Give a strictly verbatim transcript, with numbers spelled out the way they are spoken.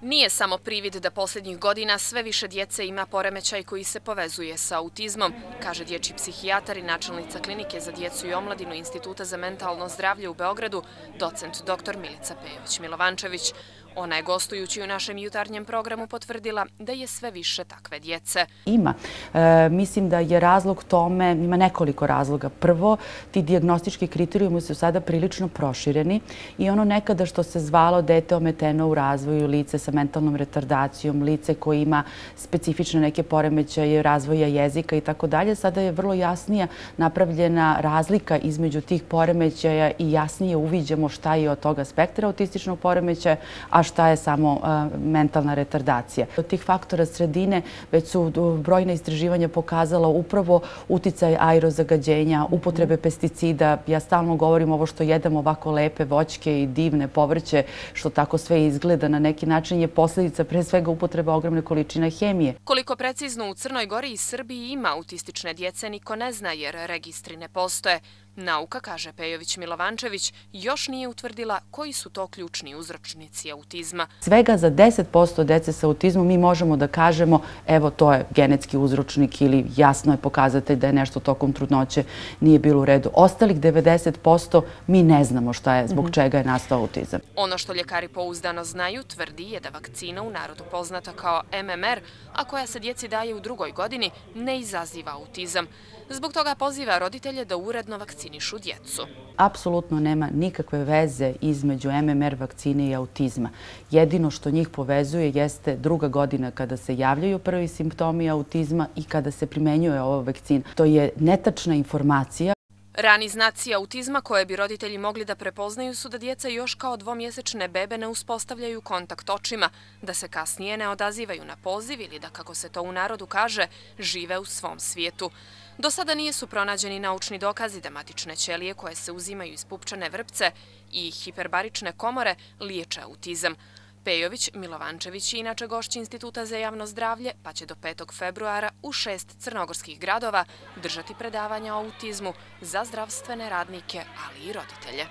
Nije samo privid da posljednjih godina sve više djece ima poremećaj koji se povezuje sa autizmom, kaže dječji psihijatar i načelnica klinike za djecu i omladinu Instituta za mentalno zdravlje u Beogradu, docent doktor Milica Pejović-Milovančević. Ona je gostujući u našem jutarnjem programu potvrdila da je sve više takve djece. Ima. E, mislim da je razlog tome, ima nekoliko razloga. Prvo, ti dijagnostički kriterijumi su sada prilično prošireni i ono nekada što se zvalo dete ometeno u razvoju, lice sa mentalnom retardacijom, lice koje ima specifične neke poremećaje razvoja jezika i tako dalje, sada je vrlo jasnija napravljena razlika između tih poremećaja i jasnije uviđamo šta je od toga spektra autističnog poremećaja, a šta je samo uh, mentalna retardacija. Od tih faktora sredine već su brojna istraživanja pokazala upravo uticaj aerozagađenja, upotrebe pesticida. Ja stalno govorim ovo što jedemo, ovako lepe voćke i divne povrće, što tako sve izgleda na neki način je posljedica pre svega upotreba ogromne količine hemije. Koliko precizno u Crnoj Gori i Srbiji ima autistične djece niko ne zna jer registri ne postoje. Nauka, kaže Pejović-Milovančević, još nije utvrdila koji su to ključni uzročnici autizma. Svega za deset posto dece sa autizmom mi možemo da kažemo evo to je genetski uzročnik ili jasno je pokazatelj da je nešto tokom trudnoće nije bilo u redu. Ostalih devedeset posto mi ne znamo šta je, zbog čega je nastao autizam. Ono što ljekari pouzdano znaju tvrdi je da vakcina u narodu poznata kao M M R, a koja se djeci daje u drugoj godini, ne izaziva autizam. Zbog toga poziva roditelje da uredno vakcinišu djecu. Apsolutno nema nikakve veze između M M R vakcine i autizma. Jedino što njih povezuje jeste druga godina kada se javljaju prvi simptomi autizma i kada se primenjuje ova vakcina. To je netačna informacija. Rani znaci autizma koje bi roditelji mogli da prepoznaju su da djeca još kao dvomjesečne bebe ne uspostavljaju kontakt očima, da se kasnije ne odazivaju na poziv ili da, kako se to u narodu kaže, žive u svom svijetu. Do sada nisu pronađeni naučni dokazi da matične ćelije koje se uzimaju iz pupčane vrpce i hiperbarične komore liječe autizam. Pejović-Milovančević je inače gošć Instituta za javno zdravlje, pa će do petog februara u šest crnogorskih gradova držati predavanja o autizmu za zdravstvene radnike, ali i roditelje.